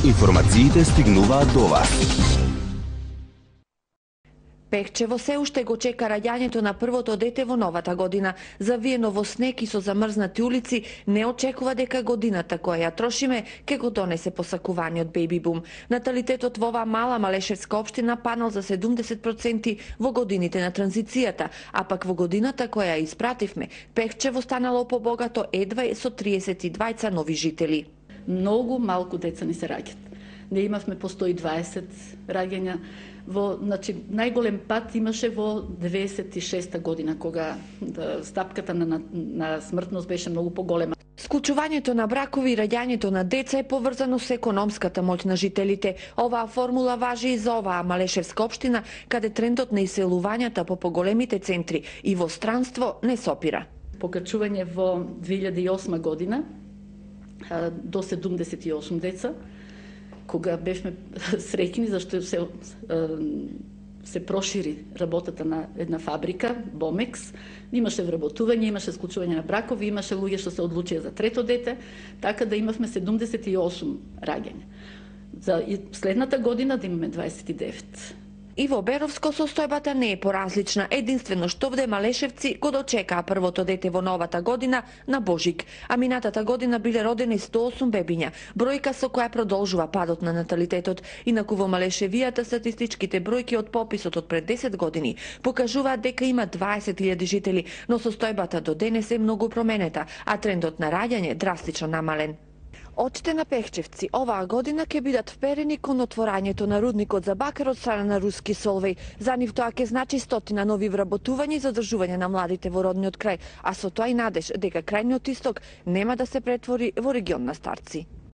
Информациите стигнуваат до вас. Пехчево се уште го чека раѓањето на првото дете во новата година. Завиено во снег и со замрзнати улици, не очекува дека годината која ја трошиме ке го донесе посакуваниот бејби бум. Наталитетот во оваа мала малешевска општина паднал за 70% во годините на транзицијата, а пак во годината која ја испративме, Пехчево станало побогато едва со 32 нови жители. Многу малку деца ни се раѓаат. Не имавме по 120 раѓања. Значи, најголем пат имаше во 96-та година, кога стапката на смртност беше многу поголема. Склучувањето на бракови и раѓањето на деца е поврзано со економската моќ на жителите. Оваа формула важи и за оваа малешевска општина, каде трендот на иселувањата по поголемите центри и во странство не сопира. Покачување во 2008 година до 78 деца, кога бевме среќни зашто се прошири работата на една фабрика, Бомекс, имаше вработување, имаше склучување на бракови, имаше луѓе што се одлучија за трето дете, така да имавме 78 раѓања. За следната година да имаме 29. И во Беровско состојбата не е поразлична, единствено што овде малешевци го дочекаа првото дете во новата година на Божик, а минатата година биле родени 108 бебиња, бројка со која продолжува падот на наталитетот. Инаку во Малешевијата статистичките бројки од пописот од пред 10 години покажуваат дека има 20.000 жители, но состојбата до денес е многу променета, а трендот на раѓање драстично намален. Очите на пехчевци оваа година ќе бидат вперени кон отворањето на рудникот за бакар од страна на руски Солвеј. За нив тоа ќе значи 100 нови вработувања и задржување на младите во родниот крај, а со тоа и надеж дека крајниот исток нема да се претвори во регион на старци.